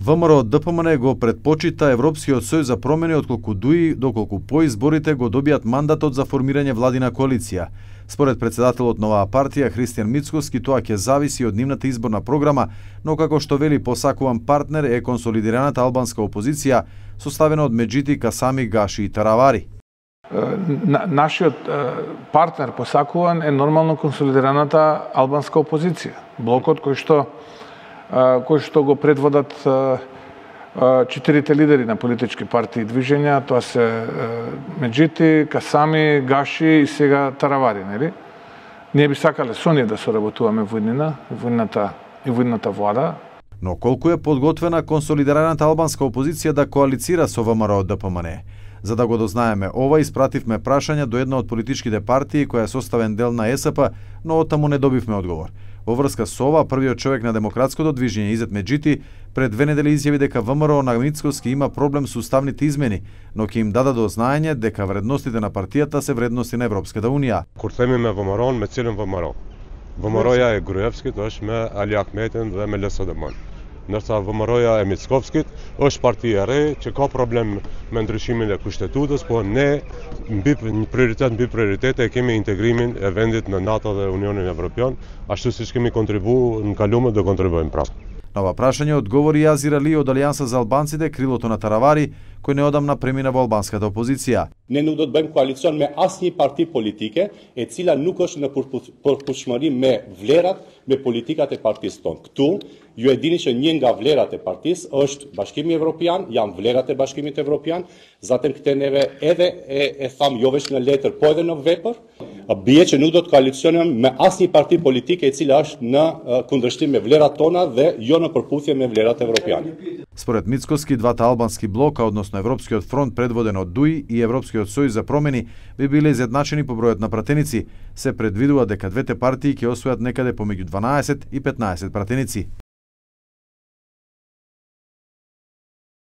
ВМРО ДПМН го предпочита Европскиот сојуз за промени отколку ДУИ, доколку по изборите го добијат мандатот за формирање владина коалиција. Според председателот на оваа партија Христијан Мицкоски, тоа ќе зависи од нивната изборна програма, но како што вели посакуван партнер е консолидираната албанска опозиција, составена од Меджити, Касами, Гаши и Таравари. Нашиот партнер посакуван е нормално консолидираната албанска опозиција. Блокот кој што го предводат четирите лидери на политички партии и движења, тоа се Меджити, Касами, Гаши и сега Таравари, нели? Ние би сакале со ние да соработуваме во идната влада. Но колку е подготвена консолидираната албанска опозиција да коалицира со ВМРО ДПМН? За да го дознаеме ова, испративме прашање до една од политичките партии која е составен дел на ЕСП, но оттаму не добивме одговор. Во врска со ова, првиот човек на демократското движење Изет Меджити пред 2 недели изјави дека ВМРО на Мицкоски има проблем со уставните измени, но ќе им даде до знаење дека вредностите на партијата се вредности на Европската Унија. Kur themi me ВМРО, me cilën ВМРО? ВМРО-ja e Gruevskit është me Ali Ahmetin dhe me LSDM-n. Ndërsa ВМРО-ja e Mickovskit është parti e re që ka problem me ndryshimin e kushtetutës, po ne mbi prioritete kemi integrimin e vendit në NATO dhe Unionin Evropian, ashtu siç kemi kontribuar në kalume do kontribuojmë prapë. На ова прашање одговори Азир Али од Алијанса за албанците, крилото на Таравари, кој неодамна премина во албанската опозиција. Ne nuk do të bëjmë koalicion me asnjë parti politike e cila nuk është në përputhshmëri me vlerat, me politikat e partisë tonë. Ktu ju e dini që një nga vlerat e partisë është Bashkimi Evropian, janë vlerat e Bashkimit Evropian, zatem këtë neve edhe e tham jo vetëm në letër, po edhe në vepër, bie që nuk do të koalicionojmë me asnjë parti politike e cila është në kundërshtim me vlerat tona dhe jo në përputhje me vlerat evropiane. Според Мицкоски, двата албански блока, односно Европскиот фронт предводен од ДУИ и Европскиот сојуз за промени, би биле изедначени по бројот на пратеници. Се предвидува дека двете партии ќе освојат некаде помеѓу 12 и 15 пратеници.